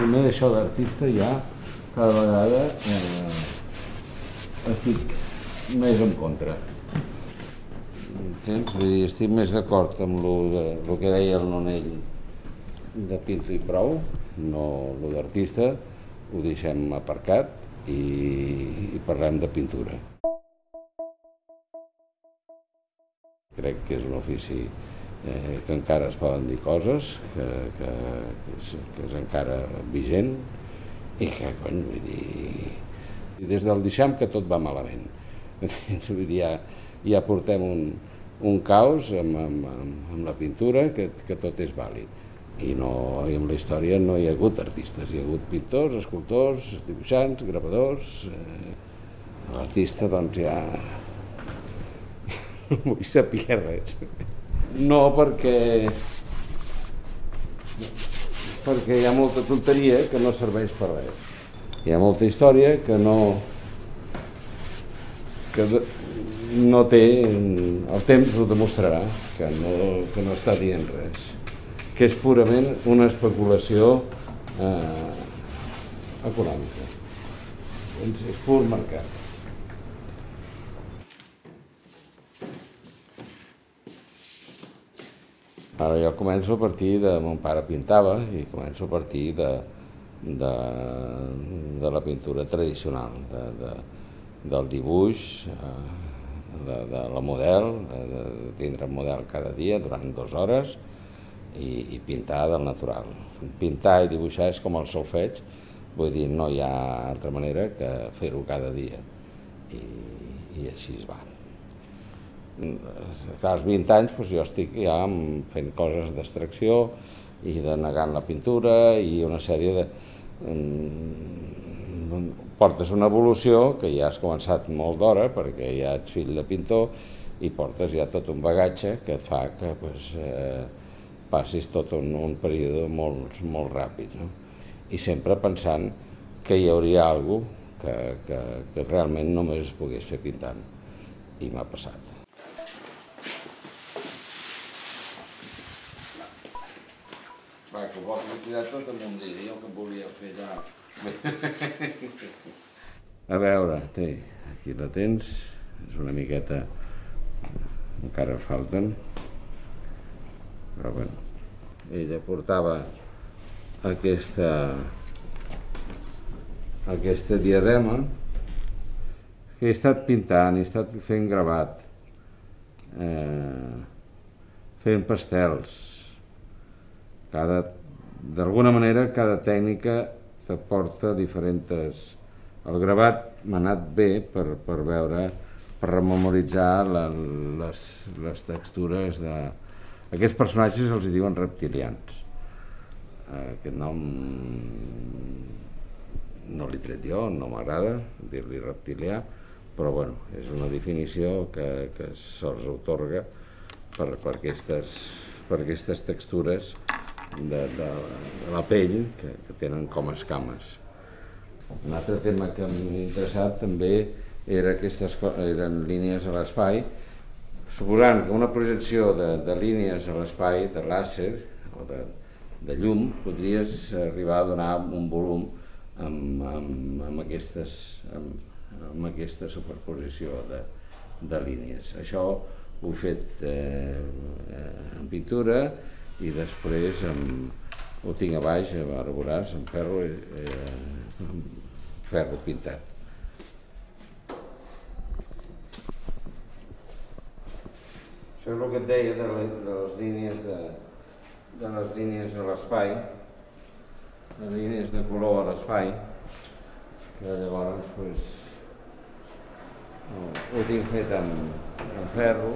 també això d'artista ja cada vegada estic més en contra. Entens? Vull dir, estic més d'acord amb el que deia el Nonell de pinto i prou, no el d'artista, ho deixem aparcat i parlem de pintura. Crec que és un ofici que encara es poden dir coses, que és encara vigent i que, cony, vull dir, des del deixam que tot va malament. Vull dir, ja portem un caos amb la pintura que tot és vàlid. I en la història no hi ha hagut artistes, hi ha hagut pintors, escultors, dibuixants, gravadors. L'artista, doncs, ja no vull saber res. No, perquè hi ha molta tonteria que no serveix per res. Hi ha molta història que no té, el temps ho demostrarà, que no està dient res, que és purament una especulació econòmica. És pur mercat. Ara jo començo a partir de... Mon pare pintava i començo a partir de la pintura tradicional, del dibuix, de la model, de tindre un model cada dia durant 2 hores i pintar del natural. Pintar i dibuixar és com el solfeig, vull dir, no hi ha altra manera que fer-ho cada dia i així es va. Als 20 anys jo estic ja fent coses d'extracció i de negant la pintura i una sèrie de... Portes una evolució que ja has començat molt d'hora perquè ja ets fill de pintor i portes ja tot un bagatge que et fa que passis tot un període molt ràpid. I sempre pensant que hi hauria alguna cosa que realment només es pogués fer pintant. I m'ha passat. Va, que ho vols tirar tot en un dia, jo que volia fer ja... A veure, aquí la tens, és una miqueta... encara falten, però bueno. Ella portava aquesta diadema que he estat pintant, he estat fent gravat, fent pastels. D'alguna manera, cada tècnica te porta diferents... El gravat m'ha anat bé per veure, per rememoritzar les textures de... Aquests personatges els diuen reptilians. Aquest nom no l'he tret jo, no m'agrada dir-li reptilià, però bueno, és una definició que se'ls atorga per aquestes textures de la pell que tenen com escames. Un altre tema que m'ha interessat també eren línies a l'espai, suposant que una projecció de línies a l'espai, de làser o de llum, podries arribar a donar un volum amb aquesta superposició de línies. Això ho he fet en pintura i després ho tinc a baix, ara veuràs, en ferro pintat. Això és el que et deia de les línies a l'espai, les línies de color a l'espai, que llavors ho tinc fet en ferro.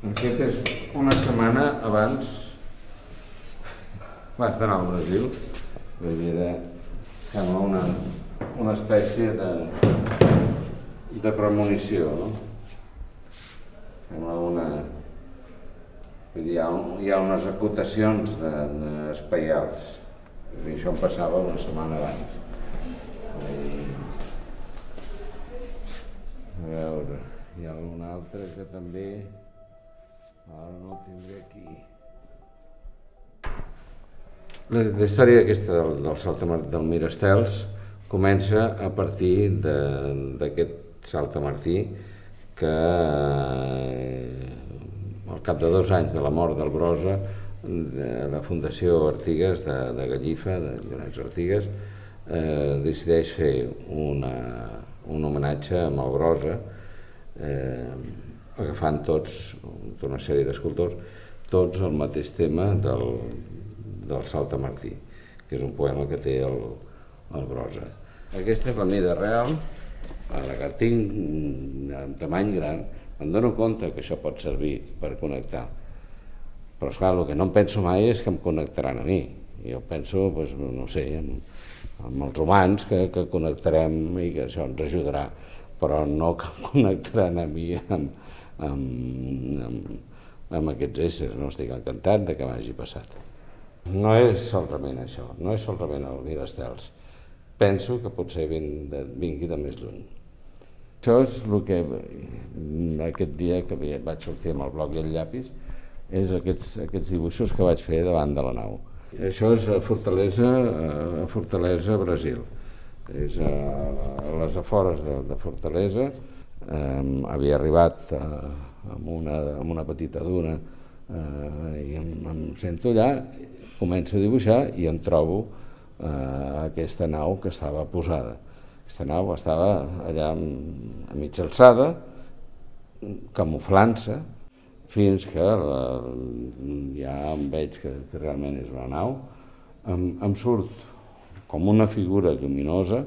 Aquest és una setmana abans vaig anar al Brasil, vull dir, sembla una espècie de premonició, no? Sembla vull dir, hi ha unes acotacions espaials, i això em passava una setmana abans. A veure, hi ha algun altre que també... Ara no el tindré aquí. La història aquesta del saltamartí del Mirastels comença a partir d'aquest saltamartí que al cap de 2 anys de la mort del Brossa, la Fundació Artigas de Gallifa, de Llorenç Artigas, decideix fer un homenatge amb el Brossa, agafant tots, una sèrie d'escultors, tots el mateix tema del saltamartí, que és un poema que té el Brossa. Aquesta és la mida real, la que tinc en tamany gran. Em dono compte que això pot servir per connectar, però esclar, el que no em penso mai és que em connectaran a mi. Jo penso, no sé, amb els humans que connectarem i que això ens ajudarà, però no que em connectaran a mi amb aquests éssers. No estic encantat de que m'hagi passat. No és solament això, no és solament el Mirastels. Penso que potser vingui de més lluny. Això és el que aquest dia que vaig sortir amb el bloc i el llapis, és aquests dibuixos que vaig fer davant de la nau. Això és a Fortaleza, Brasil. És a les afores de Fortaleza. Havia arribat amb una petita duna i em sento allà, començo a dibuixar i em trobo aquesta nau que estava posada. Aquesta nau estava allà a mitja alçada, camuflant-se, fins que ja em veig que realment és una nau. Em surt com una figura lluminosa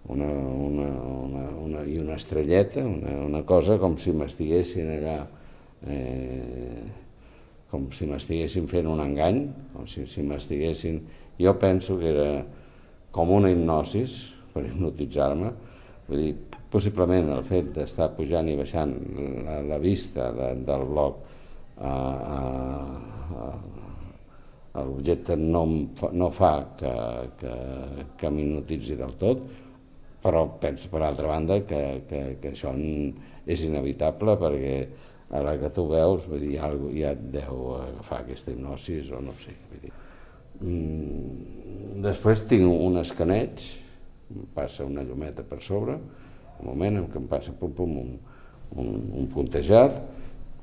i una estrelleta, una cosa com si m'estiguessin allà, com si m'estiguessin fent un engany, com si m'estiguessin... Jo penso que era com una hipnosis, per hipnotitzar-me. Vull dir, possiblement el fet d'estar pujant i baixant la vista del bloc a l'objecte no fa que m'hipnotitzi del tot, però penso, per altra banda, que això és inevitable, perquè a la que tu veus, vull dir, ja et deu agafar aquesta hipnosis o no sé. Vull dir. Després tinc un escaneig, em passa una llumeta per sobre, un moment en què em passa un puntejat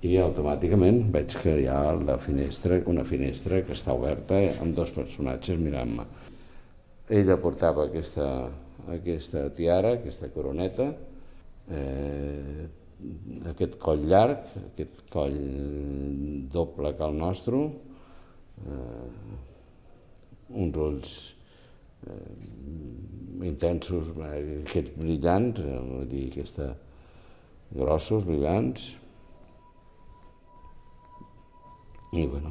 i automàticament veig que hi ha una finestra que està oberta amb 2 personatges mirant-me. Ella portava aquesta tiara, aquesta coroneta, aquest coll llarg, aquest coll doble que el nostre, uns ulls intensos, aquests brillants, vull dir, grossos, brillants, i bueno.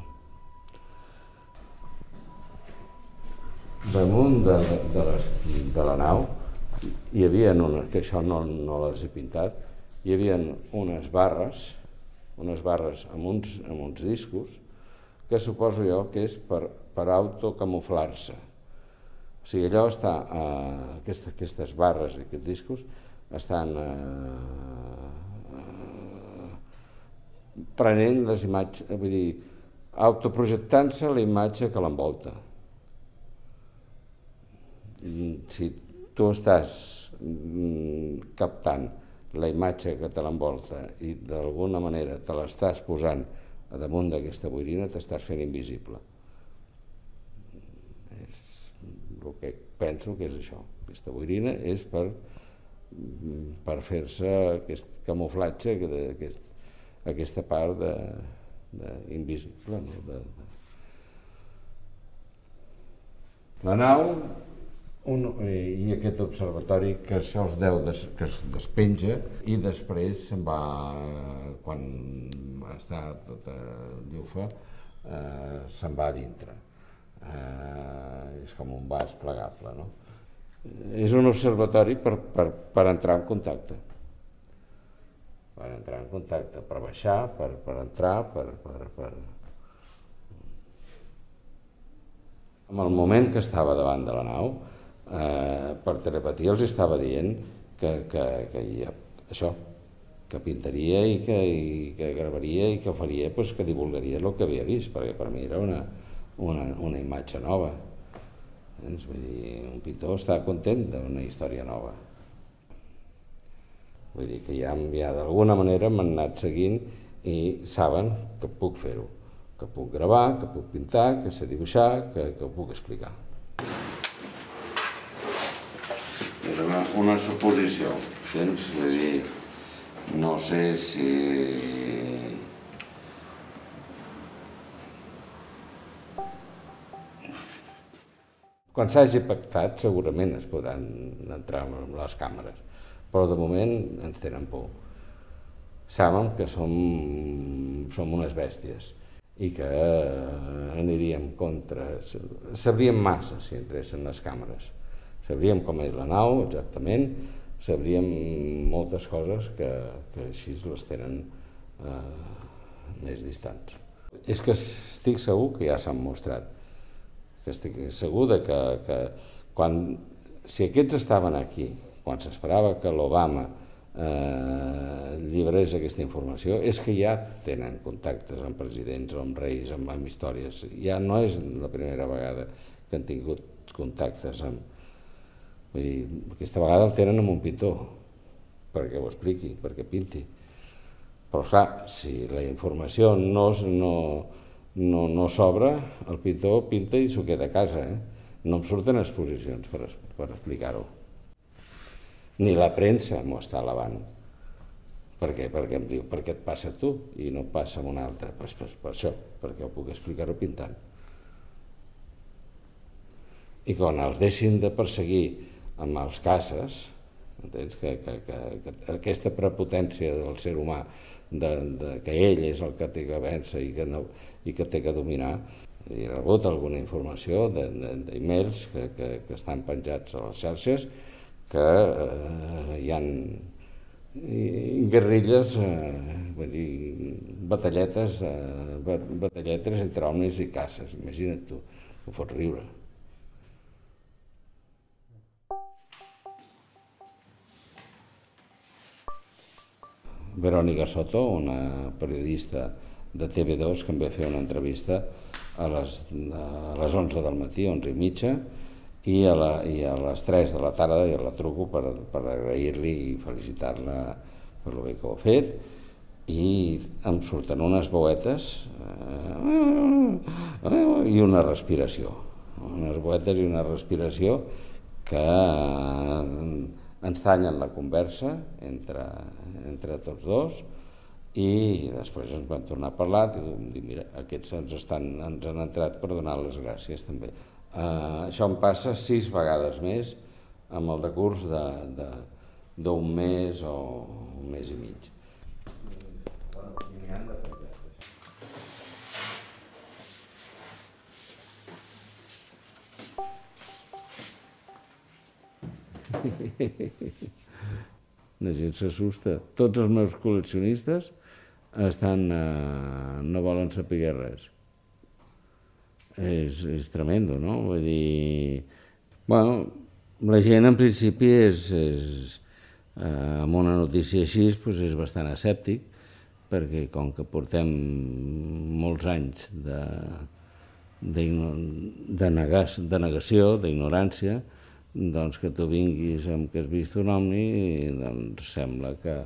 Damunt de la nau hi havia, que això no les he pintat, hi havia unes barres amb uns discos que suposo jo que és per autocamuflar-se. O sigui, allò està, aquestes barres i aquests discos estan prenent les imatges, vull dir, autoprojectant-se la imatge que l'envolta. Si tu estàs captant la imatge que te l'envolta i d'alguna manera te l'estàs posant a damunt d'aquesta boirina, t'estàs fent invisible. És el que penso que és això. Aquesta boirina és per fer-se aquest camuflatge, aquesta part invisible. La nau i aquest observatori que això que es despenja i després se'n va, quan està tota llufa, se'n va a dintre. És com un vas plegable, no? És un observatori per entrar en contacte. Per entrar en contacte, per baixar, per entrar, En el moment que estava davant de la nau, per telepatia els estava dient que això, que pintaria i que gravaria i que faria, doncs, que divulgaria el que havia vist, perquè per mi era una imatge nova. Vull dir, un pintor està content d'una història nova. Vull dir que ja d'alguna manera m'han anat seguint i saben que puc fer-ho, que puc gravar, que puc pintar, que sé dibuixar, que ho puc explicar. És una suposició, tens? Vull dir, no sé si... Quan s'hagi pactat segurament es podran entrar en les càmeres, però de moment ens tenen por. Saben que som unes bèsties i que aniríem contra... Sabríem massa si entressin les càmeres. Sabríem com és la nau, exactament, sabríem moltes coses que així les tenen més distants. És que estic segur que ja s'han mostrat, que estic segur que si aquests estaven aquí, quan s'esperava que l'Obama llibrés aquesta informació, és que ja tenen contactes amb presidents o amb reis, amb històries. Ja no és la primera vegada que han tingut contactes amb... Vull dir, aquesta vegada el tenen amb un pintor, perquè ho expliqui, perquè pinti. Però clar, si la informació no s'obre, el pintor pinta i s'ho queda a casa. No em surten exposicions per explicar-ho. Ni la premsa m'ho està alabant. Per què? Perquè em diu, per què et passa a tu i no passa a un altre? Doncs per això, perquè ho puc explicar-ho pintant. I quan els deixin de perseguir amb els caces, entens? Que aquesta prepotència del ser humà, que ell és el que té que vèncer i que té que dominar. He rebut alguna informació d'emails que estan penjats a les xarxes que hi ha guerrilles, vull dir, batalletes entre homes i caces, imagina't tu, ho fots riure. Verònica Soto, una periodista de TV2 que em va fer una entrevista a les 11 del matí, 11:30, i a les 3 de la tarda ja la truco per agrair-li i felicitar-la per lo bé que ho ha fet, i em surten unes veuetes i una respiració. Unes veuetes i una respiració que ens tallen la conversa entre tots dos, i després ens vam tornar a parlar i vam dir, mira, aquests ens han entrat per donar les gràcies també. Això em passa 6 vegades més amb el decurs d'un mes o un mes i mig. La gent s'assusta. Tots els meus col·leccionistes no volen saber res. És tremendo, no? Vull dir... Bueno, la gent en principi amb una notícia així és bastant escèptic, perquè com que portem molts anys de negació, d'ignorància, doncs que tu vinguis amb que has vist un ovni, doncs sembla que...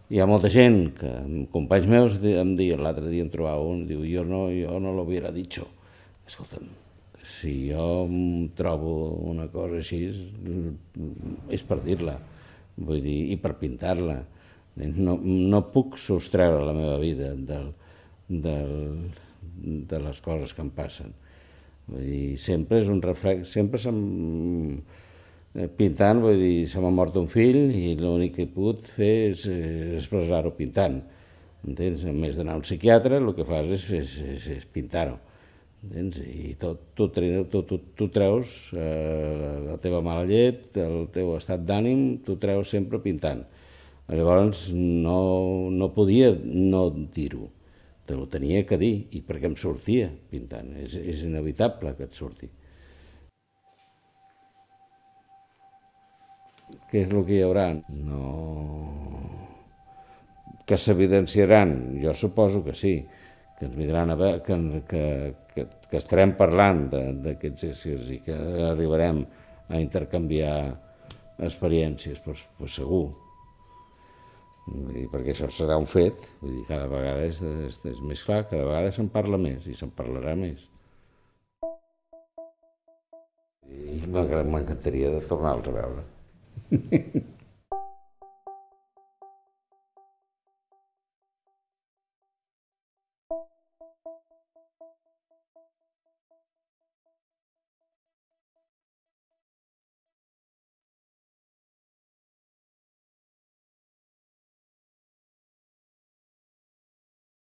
Hi ha molta gent que, companys meus em diuen, l'altre dia em trobava un, diu, jo no lo hubiera dicho. Escolta'm, si jo trobo una cosa així, és per dir-la, vull dir, i per pintar-la. No puc sostreure la meva vida de les coses que em passen. Vull dir, sempre és un reflex, sempre pintant, vull dir, se m'ha mort un fill i l'únic que he pogut fer és expressar-ho pintant. Entens? En més d'anar a un psiquiatre, el que fas és pintar-ho. I tu treus la teva mala llet, el teu estat d'ànim, tu treus sempre pintant. Llavors no podia no dir-ho, te ho tenia que dir, i perquè em sortia pintant, és inevitable que et surti. Què és el que hi haurà? No... Que s'evidenciaran? Jo suposo que sí, que ens vindran a veure, que estarem parlant d'aquests éssers i que arribarem a intercanviar experiències, doncs segur. Perquè això serà un fet, vull dir, cada vegada és més clar, cada vegada se'n parla més i se'n parlarà més. I m'encantaria de tornar-los a veure.